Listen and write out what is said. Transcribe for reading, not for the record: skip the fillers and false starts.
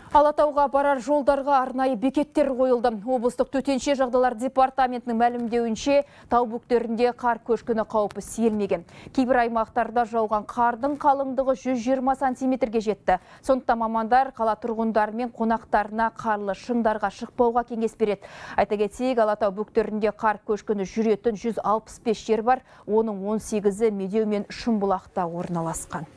Алатауға барар жолдарға арнайы бекеттер қойылды. Облыстық төтенше жағдайлар департаментінің мәлімдеуінше, тау бөктерінде қар көшкіні қаупі сейілмеген. Кейбір аймақтарда жауған қардың қалыңдығы 120 сантиметрге жетті. Сондықтан мамандар қала тұрғындары мен қонақтарына қарлы шыңдарға шықпауға кеңес береді. Айта кетейік, Алатау бөктерінде қар көшкіні жүретін 165 жер бар, оның 18-і Медеу мен Шымбұлақта орналасқан.